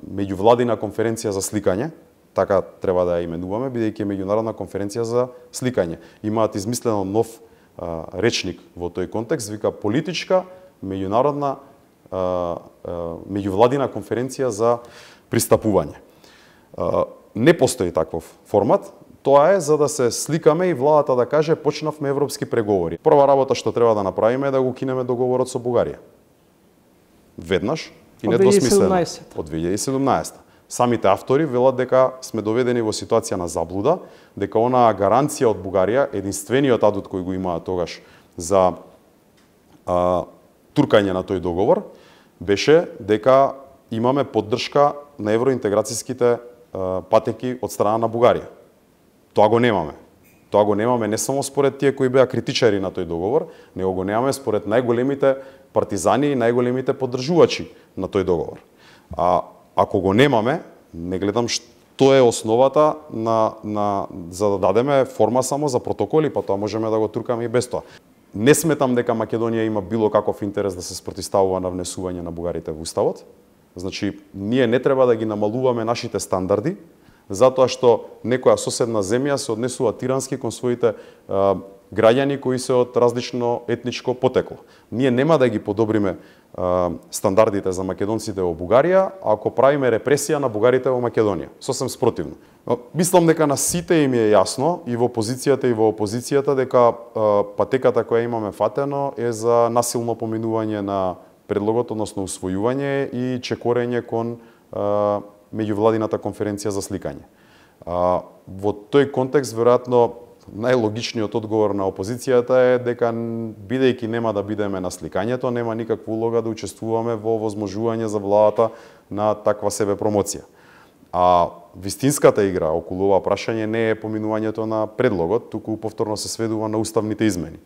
меѓувладина конференција за сликање, така треба да ја именуваме, бидејќи е меѓународна конференција за сликање. Имаат измислено нов речник во тој контекст, вика политичка меѓународна меѓувладина конференција за пристапување. Не постои таков формат. Тоа е за да се сликаме и владата да каже почнавме европски преговори. Прва работа што треба да направиме е да го кинеме договорот со Бугарија. Веднаш и недвосмислено. Од 2017. Самите автори велат дека сме доведени во ситуација на заблуда, дека онаа гаранција од Бугарија, единствениот адут кој го имаа тогаш за туркање на тој договор, беше дека имаме поддршка на евроинтеграцијските патеки од страна на Бугарија. Тоа го немаме. Тоа го немаме не само според тие кои беа критичари на тој договор, него го немаме според најголемите партизани и најголемите поддржувачи на тој договор. Ако го немаме, не гледам што е основата за да дадеме форма само за протоколи, па тоа можеме да го туркаме и без тоа. Не сметам дека Македонија има било каков интерес да се спротивставува на внесување на бугарите во уставот. Значи, ние не треба да ги намалуваме нашите стандарди, затоа што некоја соседна земја се однесува тирански кон своите граѓани кои се од различно етничко потекло. Ние нема да ги подобриме стандардите за македонците во Бугарија ако правиме репресија на бугарите во Македонија. Сосем спротивно. Мислам дека на сите им е јасно, и во позицијата и во опозицијата, дека патеката која имаме фатено е за насилно поминување на предлогот, односно усвојување и чекорење кон меѓувладината конференција за сликање. Во тој контекст, веројатно, најлогичниот одговор на опозицијата е дека, бидејќи нема да бидеме на сликањето, нема никаква улога да учествуваме во возможување за владата на таква себе промоција. Вистинската игра околу ова прашање не е поминувањето на предлогот, туку повторно се сведува на уставните измени.